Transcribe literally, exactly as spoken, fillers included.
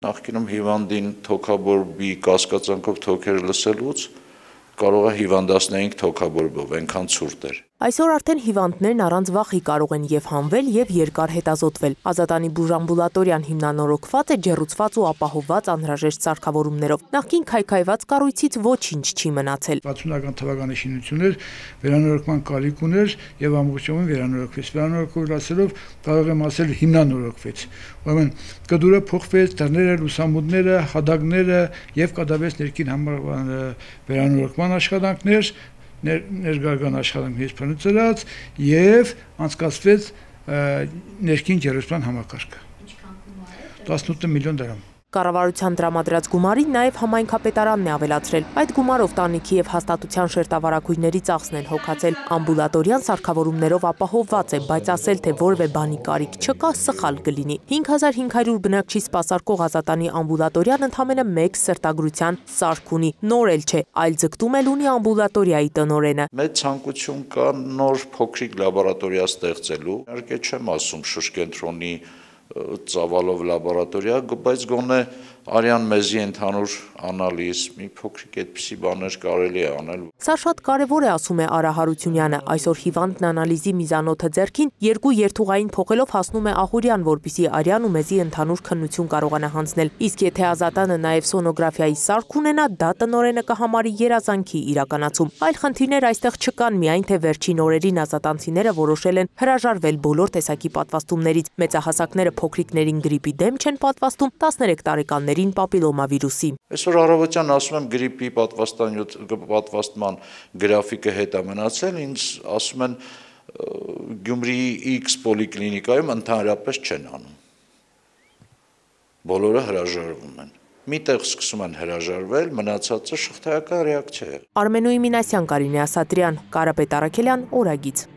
Նախկինում հիվանդին թոքաբորբի կասկածանքով թոքերը լսելուց կարող է հիվանդացնեինք թոքաբորբով, այնքան ցուրտ էր։ Այսօր արդեն հիվանդներն առանց վախի կարող են եւ հանվել եւ երկար հետազոտվել։ Ազատանի բուժամբուլատորիան հիմնանորոգված է ջեռուցված ու ապահովված անհրաժեշտ սարքավորումներով։ Նախկին քայքայված կառույցից ոչինչ չի մնացել։ վաթսունական թվականի շինություն էր, վերանորոգման կարիք ուներ եւ ամբողջովին վերանորոգվեց։ Վերանորոգվելով կարող եմ ասել հիմնանորոգվեց։ Ուրեմն կդուրը փոխվեց, դռները, լուսամուտները, հադագները եւ կատարվեց ներքին համար վերանորոգման աշխատանքներ, ներգարգան աշխատանքներից փնտրած եւ անցկացվեց ներքին ջեռուցման համակարգը։ տասնութ միլիոն դրամ։ Կառավարության տրամադրած գումարին նաև համայնքապետարանն է ավելացրել։ Այդ գումարով տանիքի եւ հաստատության շերտավարակույրների ծախսն են հոգացել։ Ամբուլատորիան սարքավորումներով ապահովված է, բայց ասել թե որևէ բանի կարիք չկա, սխալ կլինի։ հինգ հազար հինգ հարյուր բնակչի սպասարկող Ազատանի ամբուլատորիան ընդամենը մեկ սրտագրության սարք ունի։ Նոր էլ չէ, այլ ձգտում էլ ունի ամբուլատորիայի տնօրենը։ Մեծ ցանկություն կա նոր փոքրիկ լաբորատորիա ստեղծելու։ Իհարկե չեմ ասում շրջենտրոնի ծավալով լաբորատորիա, բայց գոնե արյան մեզի ընդհանուր անալիզ, մի փոքրիկ այդպիսի բաներ կարելի է անել։ Սա շատ կարևոր է, ասում է Արա Հարությունյանը։ Այսօր հիվանդն անալիզի միզանոթը ձեռքին երկու երթուղային փոխելով հասնում է Ահուրյան, որպեսզի արյան ու մեզի ընդհանուր քննություն կարողանա հանձնել։ Իսկ եթե Ազատանը նաև սոնոգրաֆիայի սարք ունենա, դա տնօրենը կհամարի երազանքի իրականացում։ Այլ խնդիրներ այստեղ չկան, միայն թե վերջին օրերին ազատանցիները որոշել են հրաժարվել բոլոր տեսակի պատվաստումներից։ Մեծահասակները փոքրիկներին գրիպի դեմ չեն պատվաստում, տասներեք տարեկաններին պապիլոմավիրուսի։ Այսօր առավոտյան ասում եմ գրիպի պատվաստանյութ պատվաստման գրաֆիկը հետ է մնացել, ինձ ասում են Գյումրիի X պոլիկլինիկայում ընդհանրապես չեն անում։ Բոլորը հրաժարվում են։ Միտեղ սկսում են հրաժարվել, մնացածը շղթայական ռեակցիա է։ Արմենուի Մինասյան, Կարինե Ասատրյան, Կարապետ Առաքելյան, Օրագիծ։